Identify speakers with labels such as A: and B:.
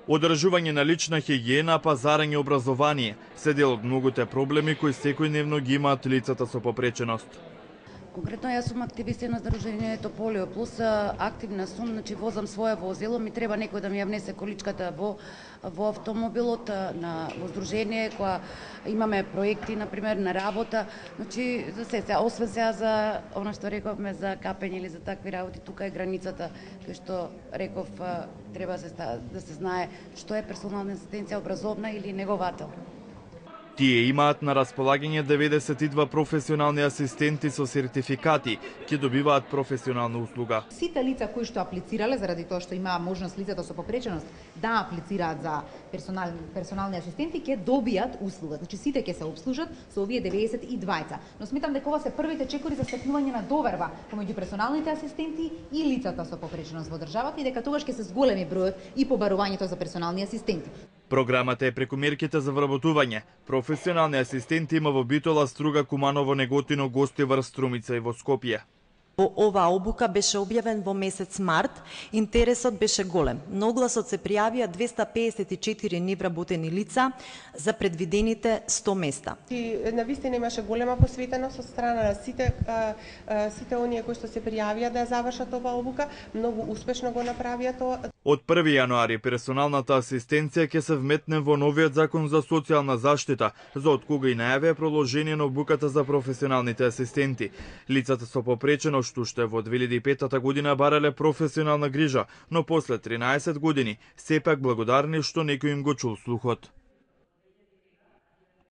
A: Одржување на лична хигиена, пазарење, образование се дел од многуте проблеми кои секојдневно ги имаат лицата со попреченост.
B: Конкретно јас сум активист на Здружението Полио плюс, активна сум, значи возам свое возило, ми треба некој да ми ја внесе количката во автомобилот во здружение, која имаме проекти например на работа, значи за се, освен сега за она што рековме за капење или за такви работи, тука е границата кај што реков треба да се знае што е персонална асистенција, образовна или неговател.
A: Тие имаат на располагање 92 професионални асистенти со сертификати, ќе добиваат професионална услуга.
C: Сите лица кои што аплицирале, заради тоа што има можност лицата со попреченост да аплицираат за персонални асистенти, ќе добијат услуга. Значи сите ќе се обслужат со овие 92. Но сметам дека ова се првите чекори за стекнување на доверба помеѓу персоналните асистенти и лицата со попреченост во државата и дека тогаш ќе се зголеми бројот и побарувањето за персонални асистенти.
A: Програмата е преку мерките за вработување. Професионални асистенти има во Битола, Струга, Куманово, Неготино, Гостивар, Струмица и во Скопје.
D: Оваа обука беше објавен во месец март. Интересот беше голем. На огласот се пријавија 254 невработени лица за предвидените 100 места.
E: Навистина имаше голема посветеност од страна на сите оние кои што се пријавија да завршат оваа обука, многу успешно го направија тоа.
A: Од 1 јануари персоналната асистенција ќе се вметне во новиот закон за социјална заштита, за од кога и најаве продолжение на обуката за професионалните асистенти. Лицата со попреченост што уште во 2005 година барале професионална грижа, но после 13 години сепак благодарни што некој им го чул слухот.